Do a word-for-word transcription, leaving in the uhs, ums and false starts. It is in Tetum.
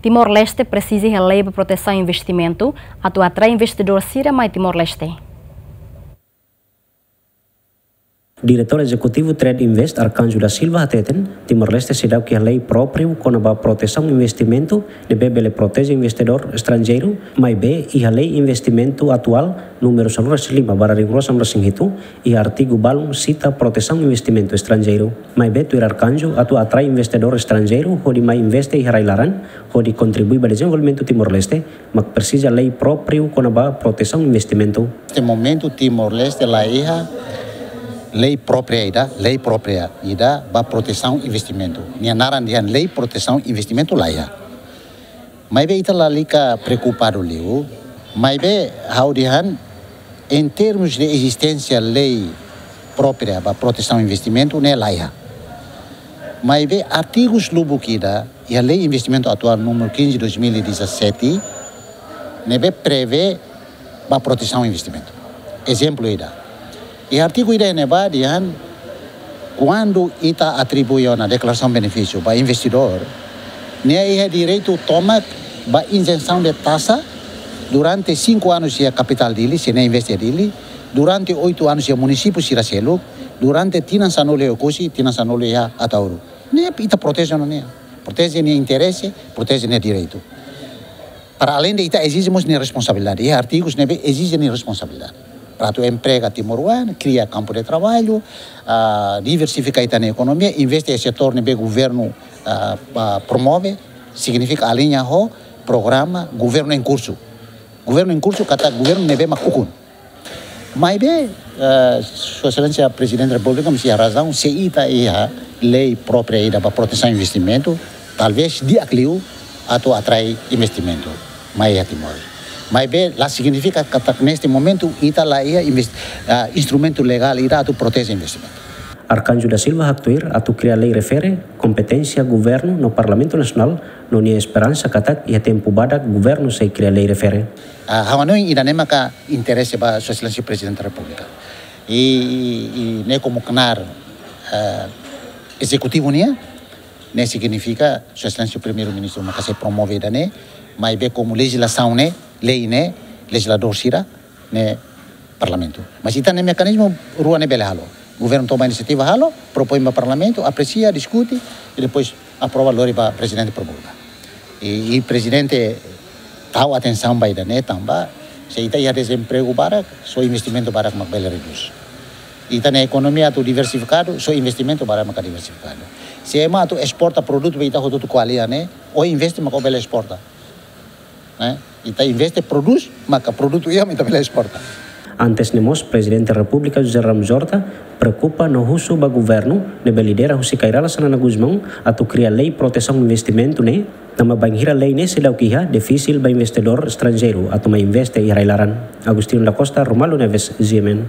Timor-Leste presiza iha lei ba protesaun investimentu atu atrai investidór sira mai Timor-Leste. Diretór Ezekutivu Trade Invest, Arcanjo da Silva, hateten, Timor-Leste seidauk iha lei própriu kona-ba protesaun investimentu ne'ebé bele proteje investidór estranjeiru, maibé iha lei investimentu atuál númeru sanulu-resin-lima barra rihun rua sanulu-resin-hitu, iha artigu balun sita protesaun investimentu estranjeiru. Maibé tuir Arcanjo, atu atrai investidór estranjeiru hodi mai investe iha rai-laran, hodi kontribui ba dezenvolvimentu Timor-Leste, mak presiza lei própriu kona-ba protesaun investimentu. Neste momentu Timor-Leste la iha lei própria ida, lei própria ida ba protesaun investimentu. Nia naran dehan lei protesaun investimentu la iha. Maibé ita lalika preokupadu liu. Maibé ha'u dehan, em termos de existência lei própria ba protesaun investimentu, ne'e la iha. Maibé artigus lubuk ida iha lei investimentu atuál númeru quinze dois mil e dezassete, ne'ebé prevee ba protesaun investimentu. Ezemplu ida. Iha artigu ida ne'ebá dehan, kuandu ita atribui ona deklarasaun benefísiu ba investidór, nia iha direitu tomak ba izensaun de taxa durante cinco anos iha kapitál Dili, se nia investe iha Dili, durante oito anos iha munisípiu sira seluk, durante tinan sanulu iha Oekusi, tinan sanulu iha Ataúru. Ne'e ita proteje ona nia. Proteje nia interese, proteje nia direitu. Para além de ita ezije mós nia responsabilidade. Iha artigus ne'ebé ezije nia responsabilidade. Para atu emprega timoroan, kria kampu de traballu, ah, diversifika ita-nia ekonomia, investe iha setór ne'ebé governu, ah, ah, promove, signifika aliña ho programa governu em curso. Governu em curso katak governu ne'ebé mak ukun. Maibé, eh, Sua Exelénsia Prezidente Repúblika mós iha razaun, se ita iha lei própria ida ba protesaun investimentu, talvés di'ak liu atu atrai investimentu mai iha Timor. Maibé la signifika katak neste momentu ita la iha invest-, ah, instrumentu legál ida atu proteje investimentu. Arcanjo da Silva haktuir atu kria lei refere kompeténsia governu no Parlamentu Nasionál, no nia esperansa katak iha tempu badak governu sei kria lei refere. Ah, ha'u hanoin ida-ne'e maka interese ba Sua Exelénsia Prezidente Repúblika. I, i, i ne'e komu knaar, eh, ezekutivu nian, ne'e signifika Sua Exelénsia Primeiru-Ministru maka sei promove ida-ne'e, maibé komu lejizlasaun ne'e, lei ne'e, lejizladór sira, ne'e Parlamentu. Mas ita-nia mekanizmu rua ne'e bele halo. Governu toma inisiativa halo, propoin ba Parlamentu, apresia, diskute, i depois aprova lori ba Prezidente Repúblika. I, i Prezidente tau atensaun ba ida-ne'e tanba, se ita iha dezempregu barak, só investimentu barak mak bele redús. Ita-nia ekonomia atu diversifikadu, só investimentu barak maka diversifikadu. Se ema atu esporta produtu be ita hotu-hotu ko'alia ne'e, ó investe maka ó bele esporta. Ne'e? Ita investe, prodús, maka produtu iha mak ita bele esporta. Antes ne'e mós, Prezidente Repúblika José Ramos Horta preokupa no husu ba governu ne'ebé lidera husi Kay Rala Xanana Gusmão atu kria lei protesaun investimentu ne'e, tanba bainhira lei ne'e seidauk iha, difisil ba investidór estranjeiru atu mai investe iha rai-laran. Agostinho da Costa, Romualdo Neves, G M N.